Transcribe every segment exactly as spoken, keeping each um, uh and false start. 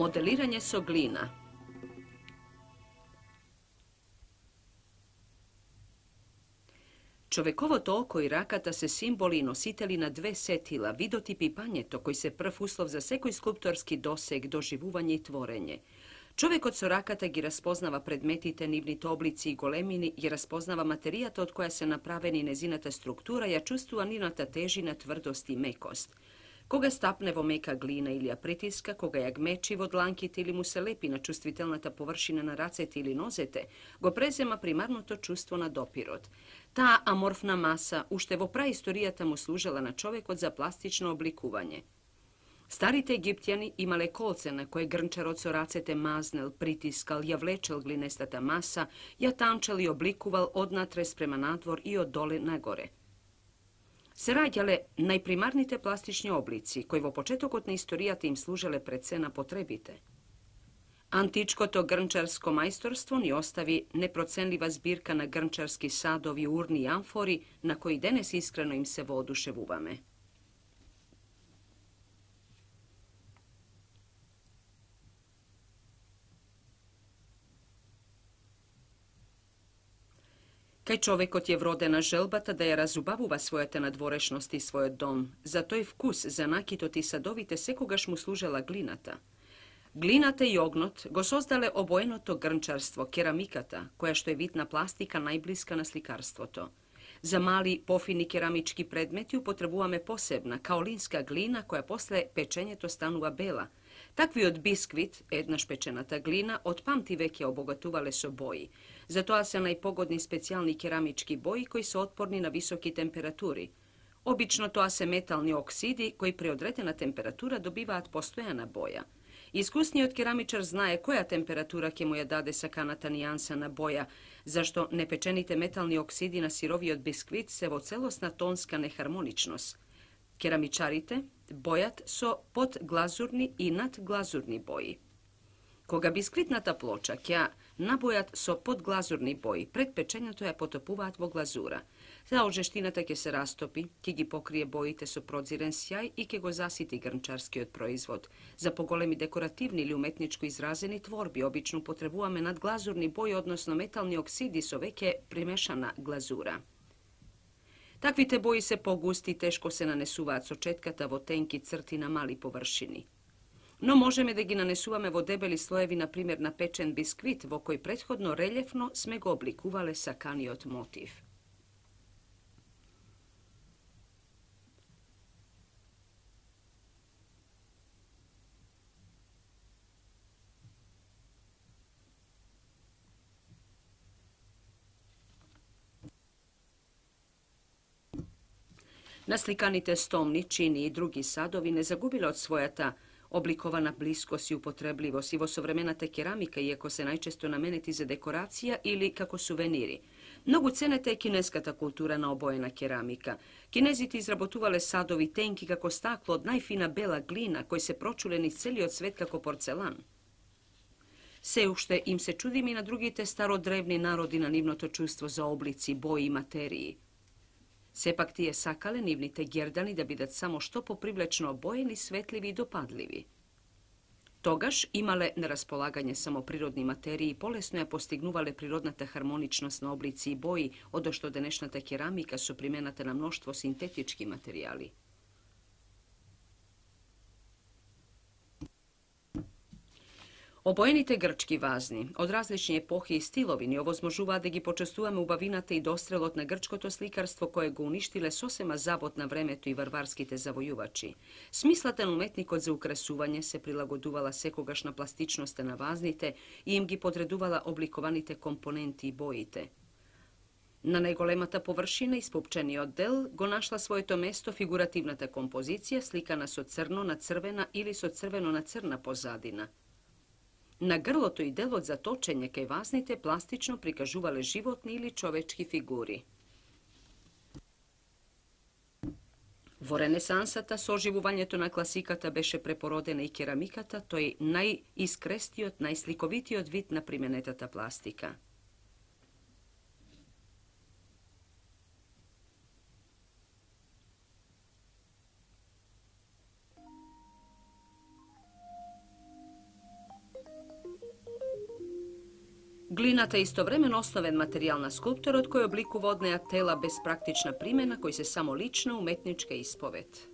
Modeliranje so glina. Човековото око и раката се символи и носители на две сетила, видотип и пањето, кои се прв услов за секој скулпторски досег, доживување и творење. Човекот со раката ги распознава предметите, нивните облици и големини, ги распознава материјата од која се направени незината структура, ја чувствува нивната тежина, тврдост и мекост. Кога стапне во мека глина или ја притиска, кога ја гмечи во дланките или му се лепи на чувствителната површина на рацете или нозете, го презема примарното чувство на допирот. Таа аморфна маса уште во праисторијата му служела на човекот за пластично обликување. Старите египтјани имале колце на кое грнчарот со рацете мазнел, притискал, ја влечел глинестата маса, ја танчел и обликувал однатре спрема надвор и од доле нагоре. Се раѓале најпримарните пластични облици, кои во почетокот на историјата им служеле пред се на потребите. Античкото грнчарско мајсторство ни остави непроценлива збирка на грнчарски садови, урни и амфори, на кои денес искрено им се воодушевуваме. Кај човекот е вродена желбата да ја разубавува својата надворешност и својот дом. За тој вкус, за накитот и садовите секогаш му служела глината. Глината и огнот го создале обоеното грнчарство, керамиката, која што е вид на пластика најблиска на сликарството. За мали, пофини керамички предмети употребуваме посебна, каолинска глина, која после печењето станува бела. Таквиот бисквит, еднаш печената глина, од памти веќе обогатувале со бои. Затоа се најпогодни специјални керамички бои кои се отпорни на високи температури. Обично тоа се метални оксиди кои при одредена температура добиваат постојана боја. Искусниот керамичар знае која температура ќе му ја даде саканата нијанса на боја, зашто непечените метални оксиди на сировиот бисквит се во целосна тонска нехармоничност. Керамичарите бојат со подглазурни и надглазурни бои. Кога бисквитната плоча ќе набојат со подглазурни бои, пред печењето ја потопуваат во глазура. Таа од жештината ќе се растопи, ќе ги покрие боите со прозирен сјај и ќе го засити грнчарскиот производ. За поголеми декоративни или уметничко изразени творби обично потребуваме надглазурни бои, односно метални оксиди со веќе примешана глазура. Таквите бои се погусти и тешко се нанесуваат со четката во тенки црти на мали површини. Но можеме да ги нанесуваме во дебели слоеви, например на печен бисквит, во кој претходно релјефно сме го обликувале саканиот мотив. Насликаните стомни, чини и други садови не загубиле од својата обликована блискост и употребливост и во современата керамика, иако се најчесто наменети за декорација или како сувенири. Многу ценета е кинеската култура на обоена керамика. Кинезите изработувале садови тенки како стакло од најфина бела глина, кои се прочулени из целиот свет како порцелан. Се уште им се чудиме и на другите стародревни народи на нивното чувство за облици, бои и материи. Сепак тие сакале нивните гердани да бидат само што попривлечно обоени, светливи и допадливи. Тогаш имале на располагање само природни материи и полесно ја постигнувале природната хармоничност на облици и бои, одошто денешната керамика со примената на мноштво синтетички материјали. Обоените грчки вазни, од различни епохи и стилови, ни овозможуваат да ги почестуваме убавината и дострелот на грчкото сликарство кое го уништиле сосема забот на времето и варварските завојувачи. Смислата на уметникот за украсување се прилагодувала секогаш на пластичноста на вазните и им ги подредувала обликованите компоненти и боите. На најголемата површина и спупчениот дел го нашла своето место фигуративната композиција, сликана со црно на црвена или со црвено на црна позадина. На грлото и делот за точење кај вазните пластично прикажувале животни или човечки фигури. Во Ренесансата, со оживувањето на класиката беше препородена и керамиката, тој најискрестиот, најсликовитиот вид на применетата пластика. Глината е истовремено основен материјал на скулпторот кој обликува од неа тела без практична примена, кои се само лична уметничка исповед.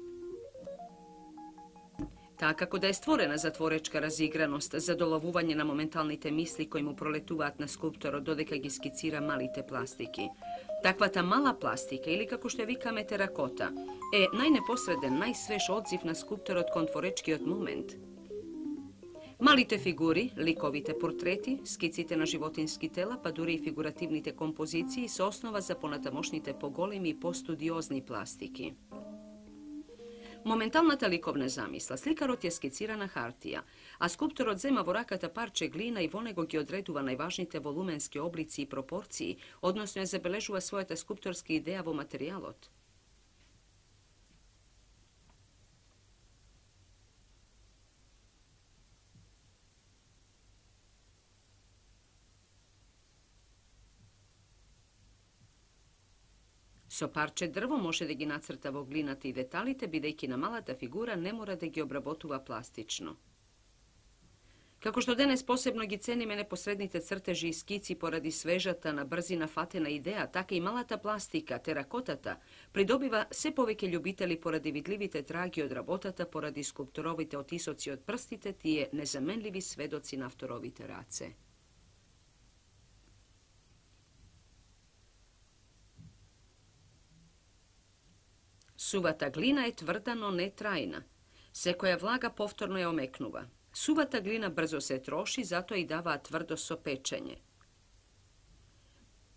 Таа како да е створена за творечка разиграност, за доловување на моменталните мисли кои му пролетуваат на скулпторот додека ги скицира малите пластики. Таквата мала пластика, или како што ја викаме теракота, е најнепосреден, најсвеж одзив на скулпторот кон творечкиот момент. Малите фигури, ликовите портрети, скиците на животински тела, па дури и фигуративните композиции се основа за понатамошните поголеми и постудиозни пластики. Моменталната ликовна замисла, сликарот ја скицира на хартија, а скулпторот зема во раката парче глина и во него ги одредува најважните волуменски облици и пропорции, односно ја забележува својата скулпторска идеја во материјалот. Со парче дрво може да ги нацрта во глината и деталите, бидејќи на малата фигура не мора да ги обработува пластично. Како што денес посебно ги цениме непосредните цртежи и скици поради свежата на брзина фатена идеја, така и малата пластика, теракотата, придобива се повеќе љубители поради видливите траги од работата, поради скулпторовите отисоци од прстите, тие незаменливи сведоци на авторовите раце. Сувата глина е тврда, но не трајна. Секоја влага повторно ја омекнува. Сувата глина брзо се троши, затоа и даваа тврдост со печење.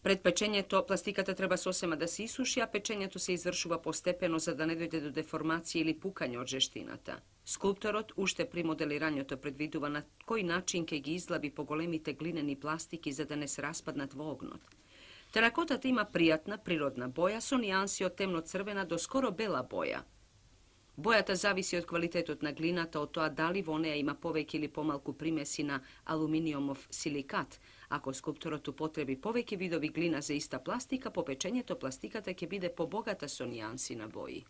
Пред печењето пластиката треба сосема да се исуши, а печењето се извршува постепено за да не дојде до деформација или пукање од жештината. Скулпторот уште при моделирањето предвидува на кој начин ќе ги излаби поголемите глинени пластики за да не се распаднат во огнот. Теракотата има пријатна, природна боја со нијанси од темно-црвена до скоро бела боја. Бојата зависи од квалитетот на глината, од тоа дали во неа има повеќе или помалку примеси на алуминиумов силикат. Ако скулпторот употреби повеќе видови глина за иста пластика, по печењето пластиката ќе биде побогата со нијанси на бои.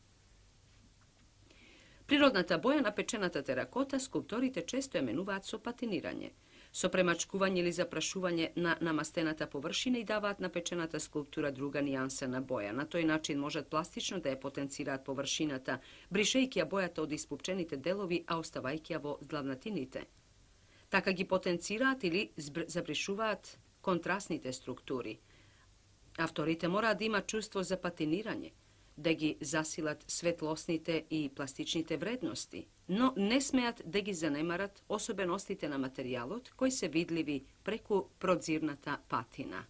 Природната боја на печената теракота скулпторите често ја менуваат со патинирање. Со премачкување или запрашување на намастената површина и даваат на печената скулптура друга нијанса на боја. На тој начин можат пластично да ја потенцираат површината, бришејќи ја бојата од испупчените делови, а оставајќи ја во длавнатините. Така ги потенцираат или забришуваат контрастните структури. Авторите мораат да имаат чувство за патинирање, да ги засилат светлосните и пластичните вредности, но не смеат да ги занемарат особеностите на материјалот кои се видливи преку продзирната патина.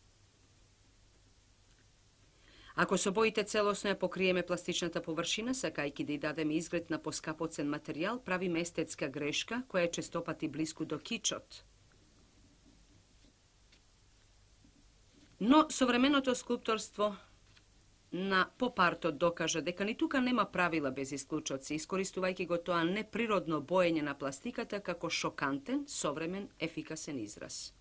Ако со боите целосно ја покриеме пластичната површина, сакајќи да ја дадеме изглед на поскапоцен материјал, правиме естетска грешка која е честопати блиску до кичот. Но современото скулпторство на попартот докажа дека ни тука нема правила без исклучоци, искористувајќи го тоа неприродно боење на пластиката како шокантен, современ, ефикасен израз.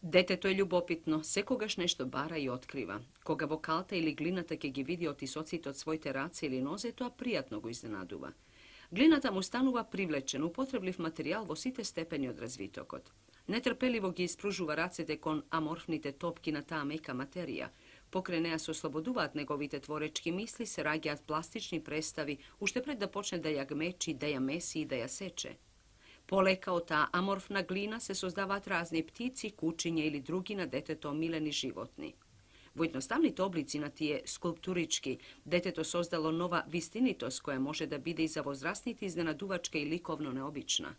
Детето е љубопитно, секогаш нешто бара и открива. Кога во калта или глината ќе ги види отисоците од своите раце или нозе, тоа пријатно го изненадува. Глината му станува привлечен, употреблив материјал во сите степени од развитокот. Нетрпеливо ги испружува рацете кон аморфните топки на таа мека материја. Покрај неа се ослободуваат неговите творечки мисли, се раѓаат пластични представи, уште пред да почне да ја гмечи, да ја меси и да ја сече. Полека од таа аморфна глина се создаваат разни птици, кучиња или други на детето омилени животни. Во едноставните облици на тие скулптурички, детето создало нова вистинитост која може да биде и за возрастните изненадувачка и ликовно необична.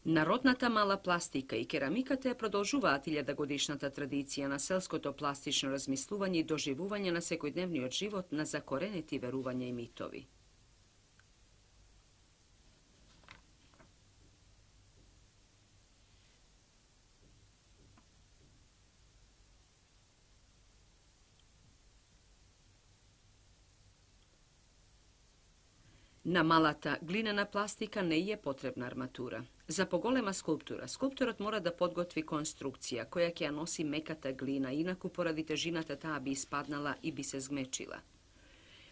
Народната мала пластика и керамиката ја продолжуваат илјадагодишната традиција на селското пластично размислување и доживување на секојдневниот живот на закоренети верувања и митови. На малата глинена пластика не е потребна арматура. За поголема скулптура, скулпторот мора да подготви конструкција која ќе ја носи меката глина, инаку поради тежината таа би испаднала и би се згмечила.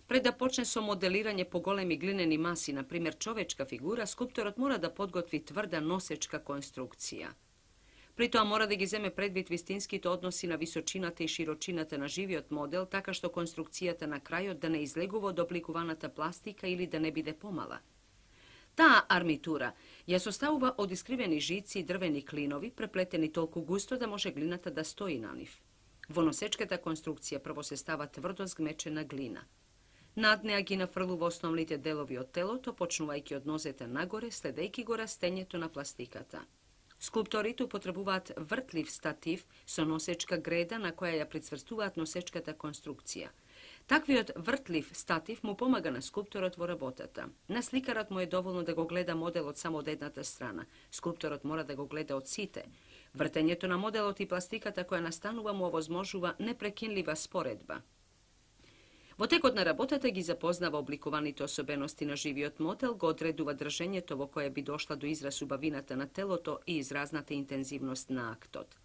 Пред да почне со моделирање поголеми глинени маси, на пример човечка фигура, скулпторот мора да подготви тврда носечка конструкција. При тоа мора да ги земе предвид вистинските односи на височината и широчината на живиот модел, така што конструкцијата на крајот да не излегува од обликуваната пластика или да не биде помала. Таа армитура ја составува од искривени жици и дрвени клинови, преплетени толку густо да може глината да стои на нив. Во носечката конструкција прво се става тврдо згмечена глина. Над неа ги нафрлува основните делови од телото, почнувајќи од нозете нагоре, следејќи го растењето на пластиката. Скулпторите употребуваат вртлив статив со носечка греда на која ја прицврстуваат носечката конструкција. Таквиот вртлив статив му помага на скулпторот во работата. На сликарот му е доволно да го гледа моделот само од едната страна. Скулпторот мора да го гледа од сите. Вртењето на моделот и пластиката која настанува му овозможува непрекинлива споредба. Во текот на работата ги запознава обликуваните особености на живиот модел, го одредува држењето во кое би дошла до израз убавината на телото и изразната интензивност на актот.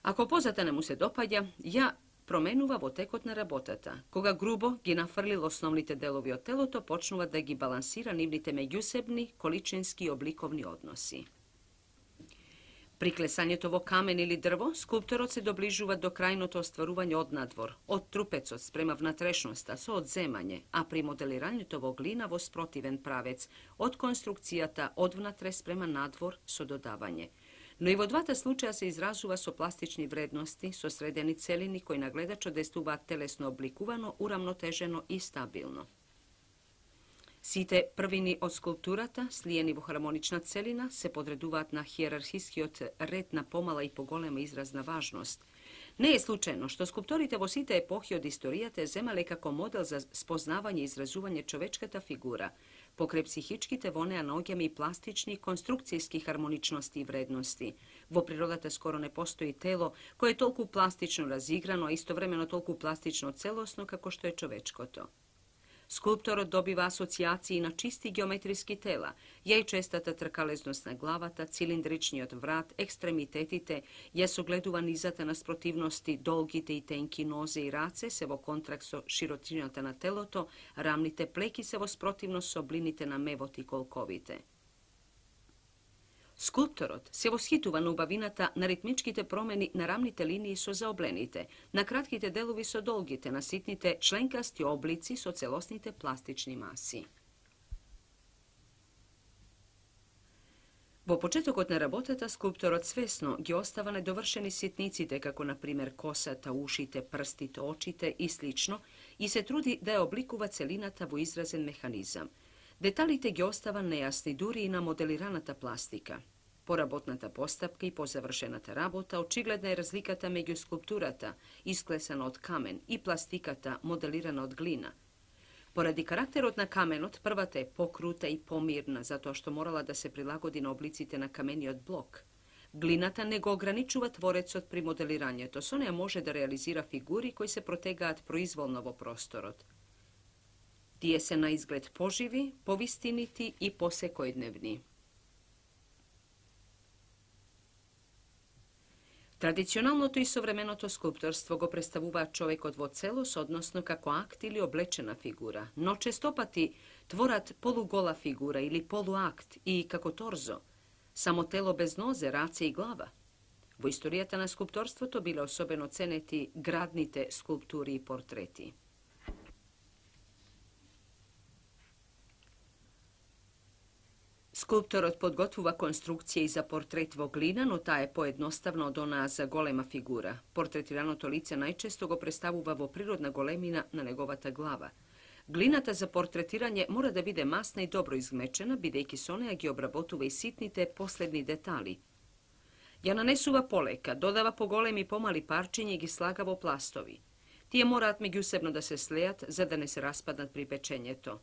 Ако позата не му се допаѓа, ја променува во текот на работата. Кога грубо ги нафрлил основните делови од телото, почнува да ги балансира нивните меѓусебни, количински и обликовни односи. При клесањето во камен или дрво, скулпторот се доближува до крајното остварување од надвор, од трупецот спрема внатрешноста со одземање, а при моделирањето во глина во спротивен правец, од конструкцијата од внатре спрема надвор со додавање. Но и во двата случаја се изразува со пластични вредности, со средени целини кои на гледачот действуваат телесно обликувано, урамнотежено и стабилно. Сите првини од скулптурата, слиени во хармонична целина, се подредуваат на хиерархискиот ред на помала и поголема изразна важност. Не е случајно што скулпторите во сите епохи од историјата земале како модел за спознавање и изразување човечката фигура. Покрај психичките во неа наоѓаме и пластични конструкцијски хармоничности и вредности. Во природата скоро не постои тело кое е толку пластично разиграно, а истовремено толку пластично целосно како што е човечкото. Скулпторот добива асоцијации на чисти геометриски тела, јајчестата тркалезност на главата, цилиндричниот врат, екстремитетите, ја согледува низата на спротивности, долгите и тенки нозе и раце се во контракт со широчината на телото, рамните плеки се во спротивност со блините на мевот и колковите. Скулпторот се восхитува на убавината на ритмичките промени на рамните линии со заоблените, на кратките делови со долгите, на ситните членкасти облици со целосните пластични маси. Во почетокот на работата, скулпторот свесно ги остава недовршени ситниците, како на пример косата, ушите, прстите, очите и слично, и се труди да ја обликува целината во изразен механизам. Деталите ги остава нејасни дури и на моделираната пластика. По работната постапка и по завршената работа, очигледна е разликата меѓу скулптурата, исклесана од камен, и пластиката, моделирана од глина. Поради карактерот на каменот, првата е покрута и помирна, затоа што морала да се прилагоди на облиците на камениот блок. Глината не го ограничува творецот при моделирањето, со неа може да реализира фигури кои се протегаат произволно во просторот. Тие се на изглед поживи, повистинити и посекојдневни. Традиционалното и современото скулпторство го представуваат човекот во целост, односно како акт или облечена фигура, но честопати творат полугола фигура или полуакт и како торзо, само тело без нозе, раце и глава. Во историјата на скулпторството биле особено ценети градните скулптури и портрети. Скулпторот подготвува конструкција и за портрет во глина, но таа е поедноставна од онаа за голема фигура. Портретираното лице најчесто го представува во природна големина на неговата глава. Глината за портретирање мора да биде масна и добро изгмечена, бидејќи со неа ги обработува и ситните последни детали. Ја нанесува полека, додава поголеми и помали парчиња и ги слага во пластови. Тие мораат меѓусебно да се слеат за да не се распаднат при печењето.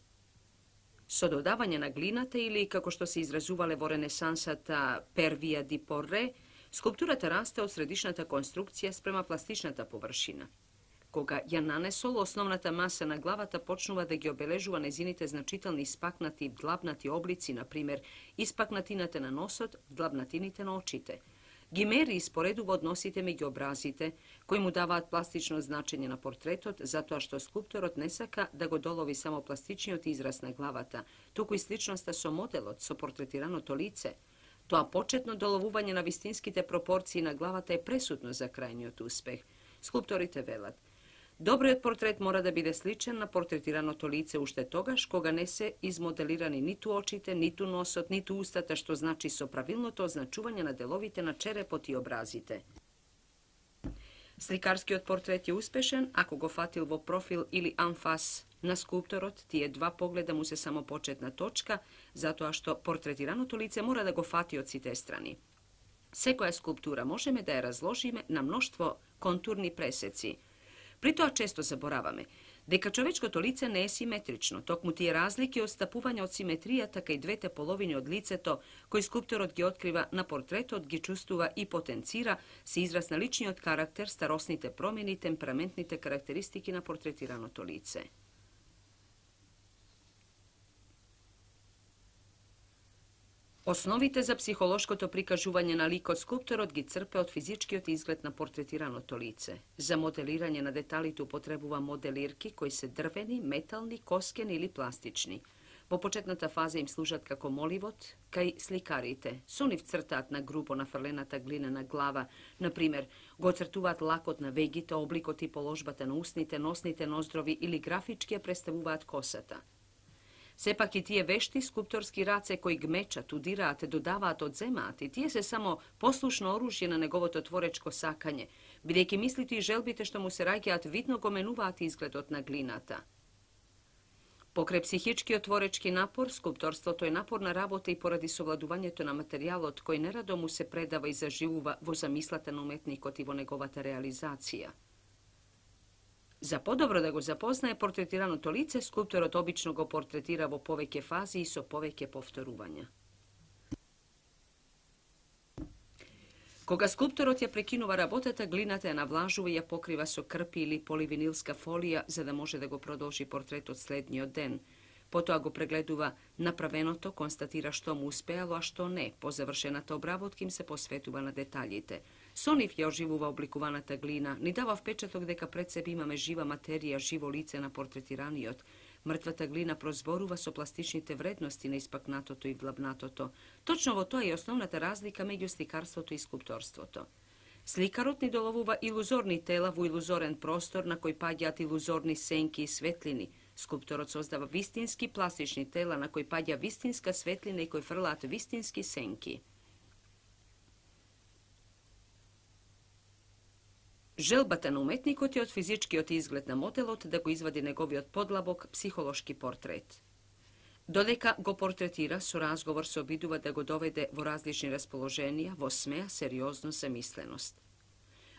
Со додавање на глината или, како што се изразувале во ренесансата per via di porre, скулптурата расте од средишната конструкција спрема пластичната површина. Кога ја нанесол, основната маса на главата почнува да ги обележува незините значителни испакнати и вдлабнати облици, например, испакнатината на носот, вдлабнатините на очите. Ги мери и споредува односите меѓу образите, кои му даваат пластично значење на портретот, затоа што скулпторот не сака да го долови само пластичниот израз на главата, туку и сличноста со моделот, со портретираното лице. Тоа почетно доловување на вистинските пропорции на главата е пресудно за крајниот успех. Скулпторите велат: добриот портрет мора да биде сличен на портретираното лице уште тогаш кога не се измоделирани ниту очите, ниту носот, ниту устата, што значи со правилното означување на деловите на черепот и образите. Сликарскиот портрет е успешен ако го фатил во профил или анфас на скулпторот, тие два погледа му се само почетна точка, затоа што портретираното лице мора да го фати од сите страни. Секоја скулптура можеме да ја разложиме на мноштво контурни пресеци. При тоа често забораваме дека човечкото лице не е симетрично, токму тие разлики отстапување од симетријата кај двете половини од лицето, кои скулпторот ги открива на портретот, ги чувствува и потенцира се израз на личниот карактер, старосните промени, темпераментните карактеристики на портретираното лице. Основите за психолошкото прикажување на ликот скулпторот ги црпе од физичкиот изглед на портретираното лице. За моделирање на деталите употребува моделирки кои се дрвени, метални, коскени или пластични. Во почетната фаза им служат како моливот кај сликарите. Со нив цртаат на грубо нафрлената глинена глава, например, го цртуваат лакот на вегите, обликот и положбата на устните, носните ноздрови или графички ја представуваат косата. Сепак и тие вешти скулпторски раце кои гмечат, удираат, додаваат, одземаат и тие се само послушно оружје на неговото творечко сакање, бидејќи мислите и желбите што му се раѓаат видно го менуваат изгледот на глината. Покрај психичкиот творечки напор, скулпторството е напорна работа и поради совладувањето на материјалот кој нерадо му се предава и заживува во замислата на уметникот и во неговата реализација. За подобро да го запознае портретираното лице, скулпторот обично го портретира во повеќе фази и со повеќе повторувања. Кога скулпторот ја прекинува работата, глината ја навлажува и ја покрива со крпи или поливинилска фолија, за да може да го продолжи портретот следниот ден. Потоа го прегледува направеното, констатира што му успеало, а што не. По завршената обработка им се посветува на деталите. Со нив ја оживува обликуваната глина, ни дава впечаток дека пред себе имаме жива материја, живо лице на портретираниот. Мртвата глина прозборува со пластичните вредности на испакнатото и вдлабнатото. Точно во тоа е основната разлика меѓу сликарството и скулпторството. Сликарот ни доловува илузорни тела во илузорен простор на кој паѓаат илузорни сенки и светлини. Скулпторот создава вистински пластични тела на кои паѓа вистинска светлина и кои фрлаат вистински сенки. Желбата на уметникот е од физичкиот изглед на моделот да го извади неговиот подлабок психолошки портрет. Додека го портретира, со разговор се обидува да го доведе во различни расположенија, во смеа, сериозност, замисленост.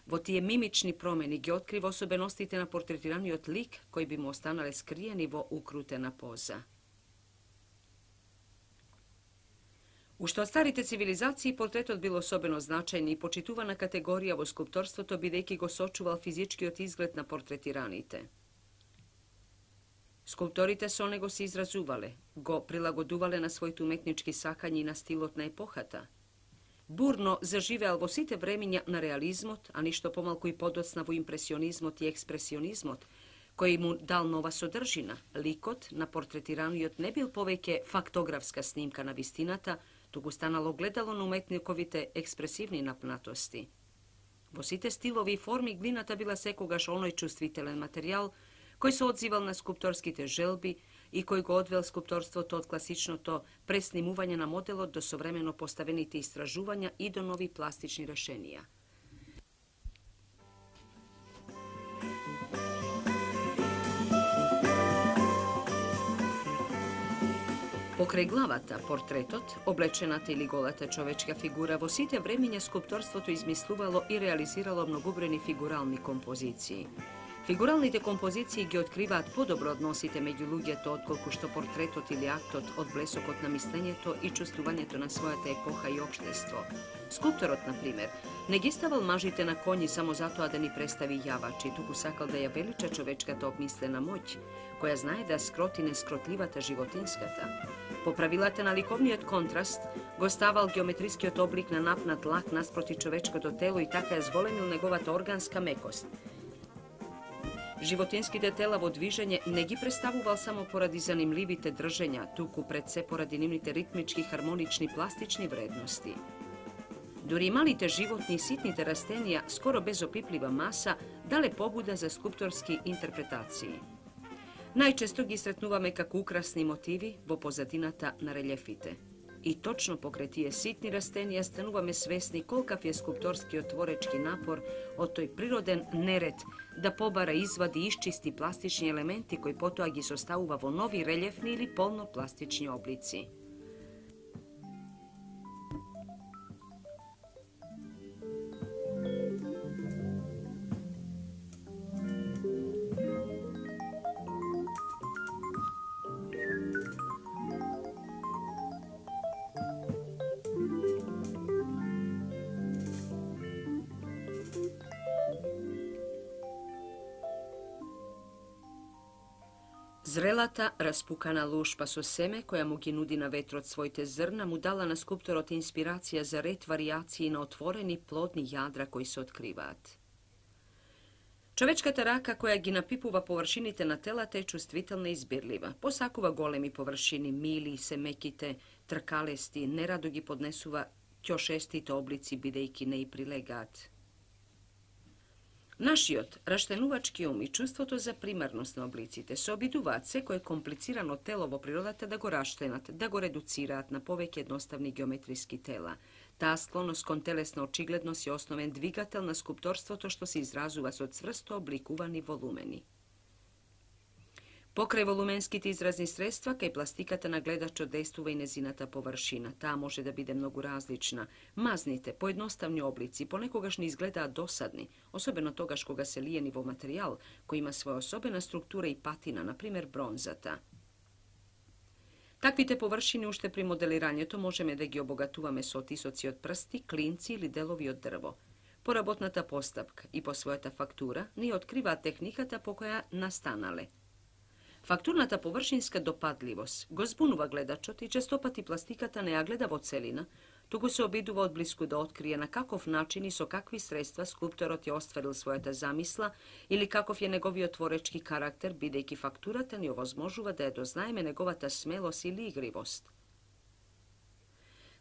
Во тие мимични промени ги открива особеностите на портретираниот лик, кои би му останале скриени во укрутена поза. Уште од старите цивилизации портретот бил особено значајна и почитувана категорија во скулпторството, бидејќи го сочувал физичкиот изглед на портретираните. Скулпторите со него се изразувале, го прилагодувале на своите уметнички сакања и на стилот на епохата. Бурно заживеал во сите времиња на реализмот, а ништо помалку и подоцна во импресионизмот и експресионизмот, кој му дал нова содржина. Ликот на портретираниот не бил повеќе фактографска снимка на вистината, туку станало гледало на уметниковите експресивни напнатости. Во сите стилови и форми глината била секогаш оној чувствителен материјал кој се одзивал на скулпторските желби и кој го одвел скулпторството од класичното преснимување на моделот до современо поставените истражувања и до нови пластични решенија. Покрај главата, портретот, облечената или голата човечка фигура, во сите времиња скулпторството измислувало и реализирало многобројни фигурални композиции. Фигуралните композиции ги откриваат подобро односите меѓу луѓето отколку што портретот или актот од блесокот на мислењето и чувствувањето на својата епоха и општество. Скулпторот, на пример, не ги ставал мажите на коњи само затоа да ни представи јавачи, туку сакал да ја велича човечката обмислена моќ, која знае да скроти нескротливата животинската. По правилата на ликовниот контраст, го ставал геометрискиот облик на напнат лак наспроти човечкото тело и така ја зголемил неговата органска мекост. Животинските тела во движење не ги представувал само поради занимливите држења, туку пред се поради нивните ритмички, хармонични, пластични вредности. Дури малите животни и ситните растенија, скоро без опиплива маса, дале побуда за скулпторски интерпретации. Најчесто ги сретнуваме како украсни мотиви во позадината на релјефите. И точно покрај тие ситни растенија стануваме свесни колкав е скулпторскиот творечки напор од тој природен неред да побара, извади и исчисти пластични елементи кои потоа ги составува во нови релјефни или полнопластични облици. Зрелата, распукана лушпа со семе, која му ги нуди на ветрот своите зрна, му дала на скулпторот инспирација за ред варијации на отворени плодни јадра кои се откриваат. Човечката рака која ги напипува површините на телата е чувствителна и избирлива. Посакува големи површини, мили, семеките, тркалести, нерадо ги поднесува ќошестите облици, бидејќи не и прилегаат. Нашиот раштенувачки ум и чувството за примарност на облиците се обидуваат секое комплицирано тело во природата да го раштенат, да го редуцираат на повеќе едноставни геометриски тела. Таа склоност кон телесна очигледност е основен двигател на скулпторството што се изразува со цврсто обликувани волумени. Покрај волуменските изразни средства, кај пластиката на гледачот действува и незината површина. Таа може да биде многу различна. Мазните, поедноставни облици понекогаш не изгледаат досадни, особено тогаш кога се лиени во материјал кој има своја особена структура и патина, например бронзата. Таквите површини уште при моделирањето можеме да ги обогатуваме со отисоци од прсти, клинци или делови од дрво. По работната постапка и по својата фактура ни откриваат техниката по која настанале. Фактурната површинска допадливост го збунува гледачот и честопати пластиката не ја гледа во целина, туку се обидува од блиску да открие на каков начин и со какви средства скулпторот ја остварил својата замисла или каков е неговиот творечки карактер, бидејќи фактурата ни овозможува да ја дознаеме неговата смелост или игривост.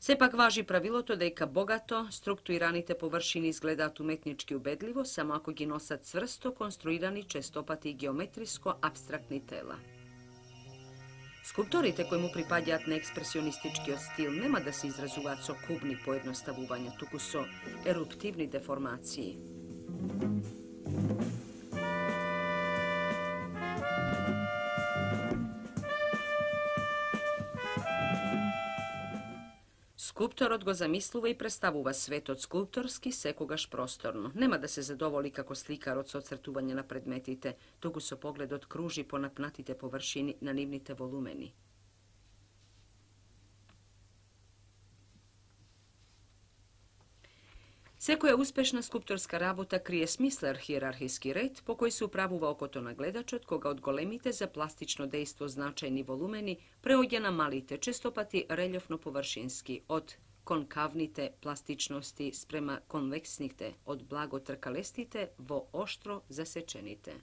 Сепак важи правилото дека богато структурираните површини изгледаат уметнички убедливо само ако ги носат цврсто конструирани, честопати и геометриско абстрактни тела. Скулпторите кои му припаѓаат на експресионистичкиот стил нема да се изразуваат со кубни поедноставувања, туку со еруптивни деформации. Скулпторот го замислува и представува светот скулпторски секогаш просторно. Нема да се задоволи како сликарот со оцртување на предметите, туку со погледот кружи по напнатите површини на нивните волумени. Секоја успешна скулпторска работа крие смислен хиерархиски ред по кој се управува окото на гледачот кога од големите за пластично дејство значајни волумени преоѓа на малите, честопати релјефно површински, од конкавните пластичности спрема конвексните, од благо тркалестите во оштро засечените.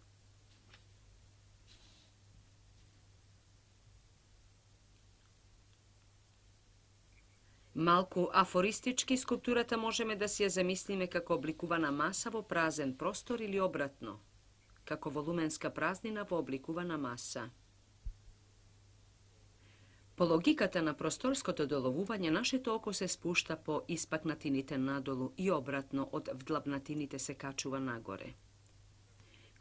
Малку афористички скулптурата можеме да си ја замислиме како обликувана маса во празен простор или обратно, како волуменска празнина во обликувана маса. По логиката на просторското доловување, нашето око се спушта по испакнатините надолу и обратно од вдлабнатините се качува нагоре.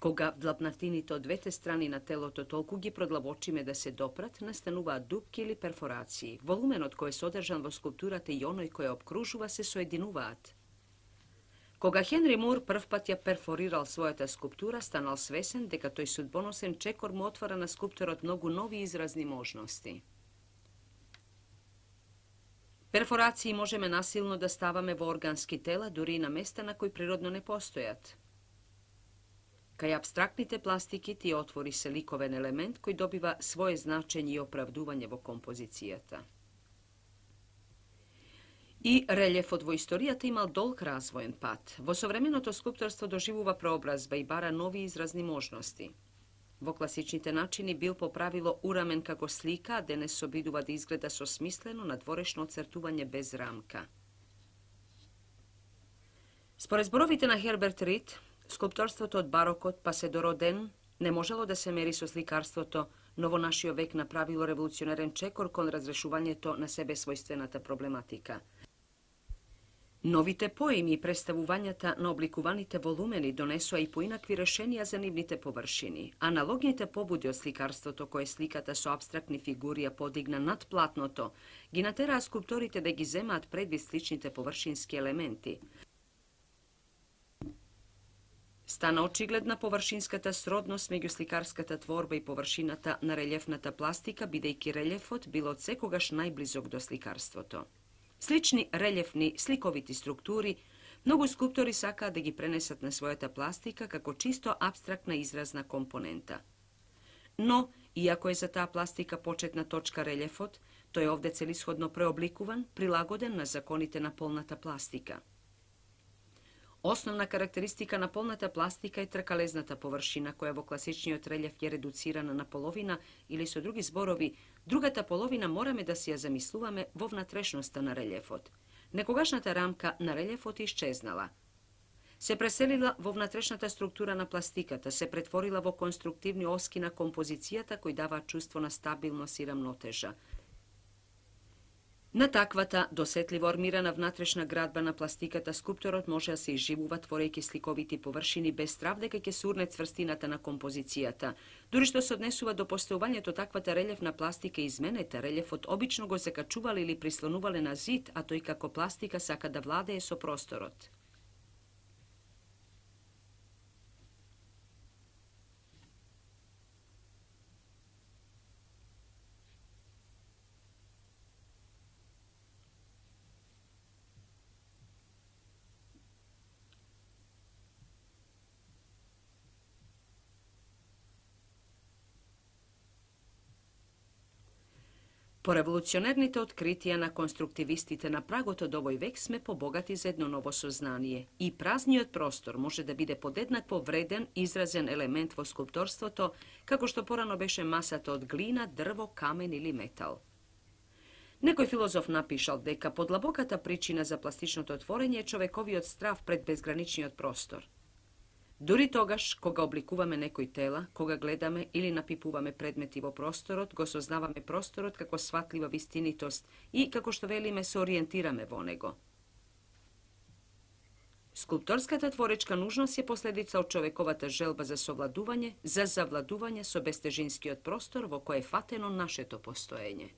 Кога вдлабнатините од двете страни на телото толку ги продлабочиме да се допрат, настануваат дупки или перфорации. Волуменот кој е содржан во скулптурата и оној кој ја обкружува се соединуваат. Кога Хенри Мур првпат ја перфорирал својата скулптура, станал свесен дека тој судбоносен чекор му отвара на скулпторот многу нови изразни можности. Перфорации можеме насилно да ставаме во органски тела, дури и на места на кои природно не постојат. Кај апстрактните пластики тие отвори се ликовен елемент кој добива свое значење и оправдување во композицијата. И релјефот во историјата имал долг развоен пат. Во современото скулпторство доживува преобразба и бара нови изразни можности. Во класичните начини бил по правило урамен како слика, а денес се обидува да изгледа со смислено надворешно оцртување без рамка. Според зборовите на Херберт Рид, скулпторството од барокот па се до Роден не можело да се мери со сликарството, но во нашиот век направило револуционерен чекор кон разрешувањето на себе својствената проблематика. Новите поеми и представувањата на обликуваните волумени донесоа и поинакви решенија за нивните површини. Аналогните побуди од сликарството, кое сликата со апстрактни фигури ја подигна над платното, ги натераа скулпторите да ги земаат предвид сличните површински елементи. Стана очигледна површинската сродност меѓу сликарската творба и површината на релјефната пластика, бидејќи релјефот бил од секогаш најблизок до сликарството. Слични релјефни сликовити структури, многу скулптори сакаат да ги пренесат на својата пластика како чисто апстрактна изразна компонента. Но, иако е за таа пластика почетна точка релјефот, тој е овде целисходно преобликуван, прилагоден на законите на полната пластика. Основна карактеристика на полната пластика е тркалезната површина, која во класичниот релјеф е редуцирана на половина или со други зборови, другата половина мораме да си ја замислуваме во внатрешноста на релјефот. Некогашната рамка на релјефот исчезнала. Се преселила во внатрешната структура на пластиката, се претворила во конструктивни оски на композицијата кои даваат чувство на стабилност и рамнотежа. На таквата досетливо армирана внатрешна градба на пластиката скулпторот може да се изживува творејќи сликовити површини без страв дека ќе се урне цврстината на композицијата. Дури што се однесува до постојувањето таквата релјефна пластика и изменете, релјефот обично го закачувале или прислонувале на зид, а тој како пластика сака да владее со просторот. По револуционерните откритија на конструктивистите на прагот од овој век сме побогати за едно ново сознание. И празниот простор може да биде подеднакво вреден, изразен елемент во скулпторството, како што порано беше масата од глина, дрво, камен или метал. Некој филозоф напишал дека подлабоката причина за пластичното творење е човековиот страв пред безграничниот простор. Дури тогаш, кога обликуваме некој тела, кога гледаме или напипуваме предмети во просторот, го сознаваме просторот како сватлива вистинитост и, како што велиме, се ориентираме во него. Скулпторската творечка нужност е последица од човековата желба за совладување, за завладување со бестежинскиот простор во кој е фатено нашето постоење.